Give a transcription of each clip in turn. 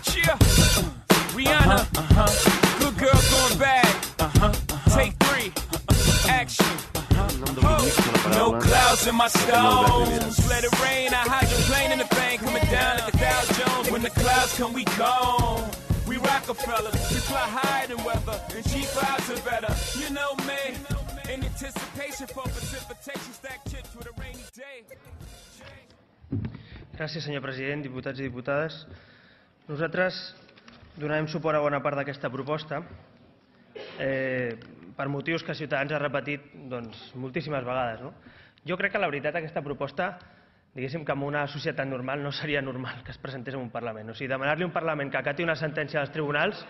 Cheer. Rihanna. Good girl going bad. Take 3. Action. No clouds in my stones. Let it rain. I hydroplane in the bank. Coming down like a Dow Jones. When the clouds come, we gone. We Rockefellers. We fly higher than weather. And cheap vibes are better. You know me. In anticipation for precipitation. Stack chips with a rainy day. Gràcies, senyor president, diputats i diputades. Nosaltres donarem suport a bona part d'aquesta proposta per motius que Ciutadans ha repetit moltíssimes vegades. Jo crec que la veritat aquesta proposta, diguéssim que en una societat normal no seria normal que es presentés en un Parlament. O sigui, demanar-li a un Parlament que acati una sentència dels tribunals,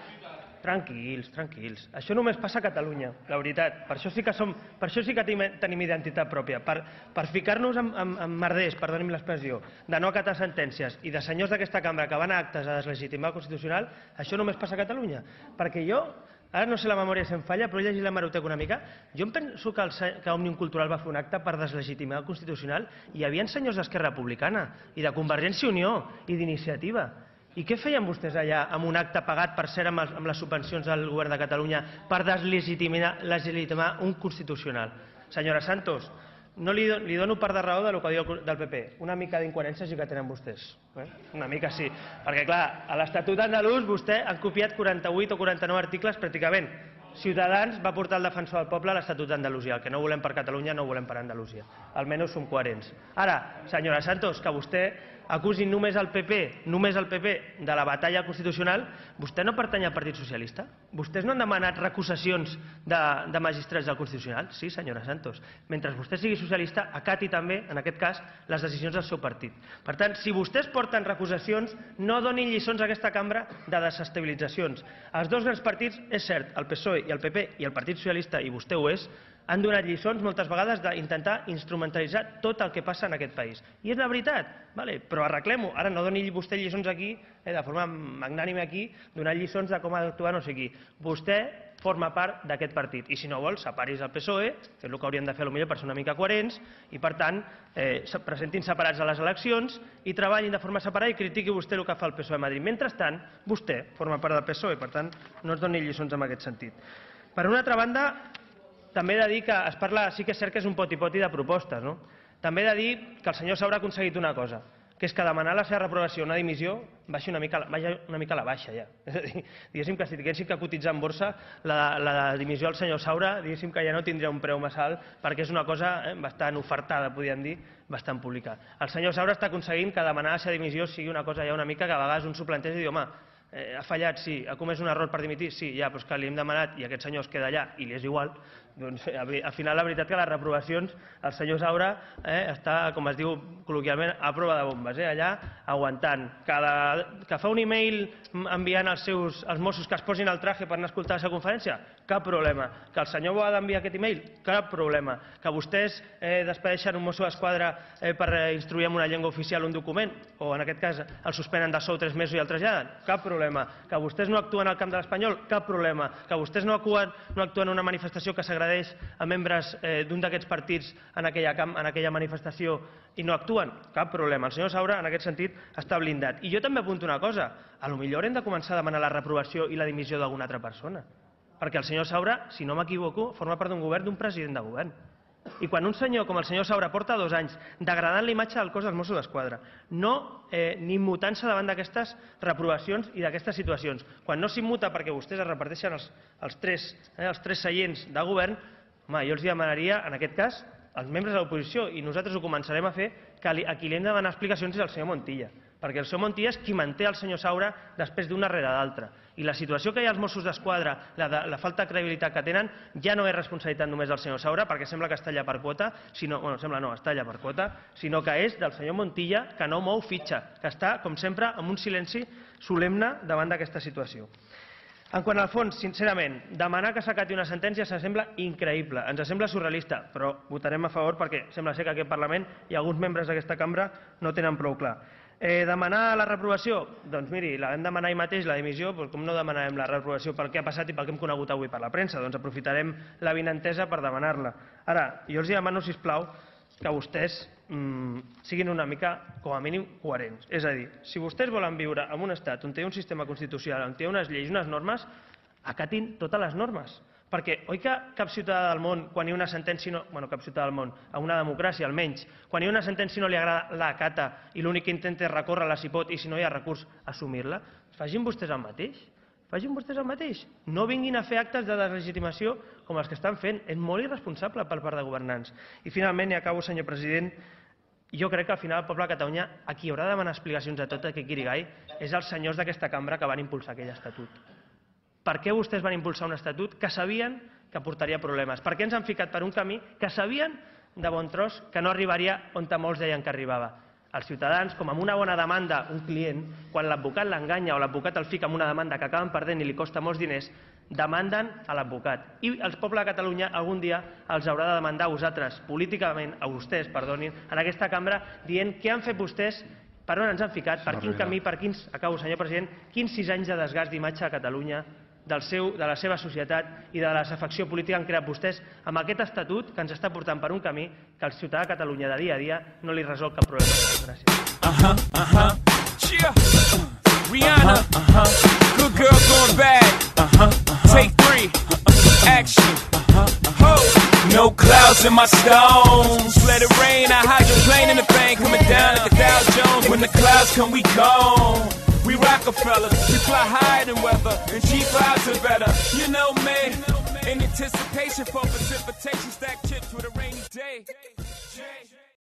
tranquils, tranquils. Això només passa a Catalunya, la veritat. Per això sí que tenim identitat pròpia. Per ficar-nos en merders, perdoni'm l'expressió, de no acatar sentències i de senyors d'aquesta cambra que van a actes a deslegitimar el Constitucional, això només passa a Catalunya. Perquè jo, ara no sé la memòria si em falla, però he llegit l'hemeroteca una mica, jo em penso que Òmnium Cultural va fer un acte per deslegitimar el Constitucional i hi havia senyors d'Esquerra Republicana i de Convergència i Unió i d'Iniciativa. I què feien vostès allà amb un acte pagat, per cert, amb les subvencions del govern de Catalunya per deslegitimar un Constitucional? Senyora Santos, no li dono part de raó del que diu del PP. Una mica d'incoherència sí que tenen vostès. Una mica sí. Perquè, clar, a l'Estatut andalús vostè han copiat 48 o 49 articles pràcticament. Ciutadans va portar el defensor del poble a l'Estatut d'Andalusia. El que no volem per Catalunya no ho volem per Andalusia. Almenys som coherents. Ara, senyora Santos, que vostè acusi només el PP de la batalla constitucional, vostè no pertany al Partit Socialista? Vostès no han demanat recusacions de magistrats del Constitucional? Sí, senyora Santos. Mentre vostè sigui socialista, acati també, en aquest cas, les decisions del seu partit. Per tant, si vostès porten recusacions, no donin lliçons a aquesta cambra de desestabilitzacions. Els dos grans partits, és cert, el PSOE i el PP i el Partit Socialista, i vostè ho és, han donat lliçons moltes vegades d'intentar instrumentalitzar tot el que passa en aquest país. I és la veritat, però arreglem-ho. Ara no doni vostè lliçons aquí, de forma magnànime aquí, donant lliçons de com ha d'actuar no sé qui. Vostè forma part d'aquest partit i si no vol, separi's del PSOE, que és el que haurien de fer potser per ser una mica coherents, i per tant, presentin separats a les eleccions i treballin de forma separada i critiqui vostè el que fa el PSOE a Madrid. Mentrestant, vostè forma part del PSOE, per tant, no ens doni lliçons en aquest sentit. Per una altra banda, també he de dir que es parla, sí que és cert que és un poti-poti de propostes, no? També he de dir que el senyor Saura ha aconseguit una cosa, que és que demanar la seva reprovació o una dimissió vagi una mica a la baixa ja. És a dir, diguéssim que si tinguéssim que cotitzar en borsa, la dimissió del senyor Saura, diguéssim que ja no tindria un preu massa alt, perquè és una cosa bastant ofertada, podríem dir, bastant pública. El senyor Saura està aconseguint que demanar la seva dimissió sigui una cosa ja una mica que a vegades un s'ho planteja i diu, home, ha fallat, sí, ha comès un error per dimitir, sí, ja, però és que li hem demanat i aquest senyor es queda allà i li és igual, doncs al final la veritat que les reprovacions el senyor Saura està, com es diu col·loquialment, a prova de bombes, allà aguantant. Que fa un e-mail enviant als Mossos que es posin el traje per anar a escoltar la seva conferència? Cap problema. Que el senyor Boada envia aquest e-mail? Cap problema. Que vostès despedeixen un mosso d'esquadra per instruir en una llengua oficial un document, o en aquest cas el suspenen de sou 3 mesos i el traslladen? Cap problema. Que vostès no actuen al camp de l'Espanyol? Cap problema. Que vostès no actuen en una manifestació que s'agredeix a membres d'un d'aquests partits en aquella manifestació i no actuen? Cap problema. El senyor Saura, en aquest sentit, està blindat. I jo també apunto una cosa. Potser haurem de començar a demanar la reprovació i la dimissió d'alguna altra persona. Perquè el senyor Saura, si no m'equivoco, forma part d'un govern d'un president de govern. I quan un senyor com el senyor Saura porta 2 anys degradant la imatge del cos dels Mossos d'Esquadra, ni immutant-se davant d'aquestes reprovacions i d'aquestes situacions, quan no s'immuta perquè vostès es reparteixen els tres seients de govern, home, jo els demanaria, en aquest cas, als membres de l'oposició, i nosaltres ho començarem a fer, que a qui li hem de demanar explicacions és al senyor Montilla, perquè el senyor Montilla és qui manté el senyor Saura després d'una rere l'altra. I la situació que hi ha als Mossos d'Esquadra, la falta de credibilitat que tenen, ja no és responsabilitat només del senyor Saura, perquè sembla que està allà per quota, està allà per quota, sinó que és del senyor Montilla, que no mou fitxa, que està, com sempre, amb un silenci solemne davant d'aquesta situació. En quant al fons, sincerament, demanar que s'acati una sentència ens sembla increïble, ens sembla surrealista, però votarem a favor perquè sembla ser que aquest Parlament i alguns membres d'aquesta cambra no tenen prou clar. Demanar la reprovació? Doncs miri, la vam demanar ahir mateix, la dimissió, com no demanarem la reprovació pel que ha passat i pel que hem conegut avui per la premsa? Doncs aprofitarem la vinentesa per demanar-la. Ara, jo els demano, sisplau, que vostès siguin una mica, com a mínim, coherents. És a dir, si vostès volen viure en un estat on té un sistema constitucional, on té unes lleis, unes normes, acatin totes les normes. Perquè oi que cap ciutadà del món, quan hi ha una sentència, bueno, cap ciutadà del món, a una democràcia almenys, quan hi ha una sentència no li agrada, l'acata i l'únic que intenta és recórrer-la si pot i si no hi ha recurs, assumir-la? Facin vostès el mateix. Facin vostès el mateix. No vinguin a fer actes de deslegitimació com els que estan fent. És molt irresponsable per part de governants. I finalment, i acabo, senyor president, jo crec que al final el poble de Catalunya, a qui haurà de demanar explicacions de tot aquest guirigall, és els senyors d'aquesta cambra que van impulsar aquell estatut. Per què vostès van impulsar un estatut que sabien que portaria problemes? Per què ens han ficat per un camí que sabien de bon tros que no arribaria on molts deien que arribava? Els ciutadans, com amb una bona demanda, un client, quan l'advocat l'enganya o l'advocat el fica en una demanda que acaben perdent i li costa molts diners, demanden a l'advocat. I el poble de Catalunya algun dia els haurà de demandar a vosaltres, políticament, a vostès, perdonin, en aquesta cambra, dient què han fet vostès, per on ens han ficat, per quin camí, per quins, acabo, senyor president, quins 6 anys de desgast d'imatge a Catalunya, de la seva societat i de la desafecció política han creat vostès amb aquest estatut que ens està portant per un camí que el ciutadà de Catalunya de dia a dia no li resol cap problema. Gràcies. Rihanna, good girl going bad. Take 3, action. No clouds in my stones. Let it rain, I hydroplane in the bank, coming down like a Dow Jones. When the clouds come, we gone. We Rockefeller, we fly higher than weather, and cheap clouds are better. You know me, in anticipation for precipitation, stack chips with a rainy day.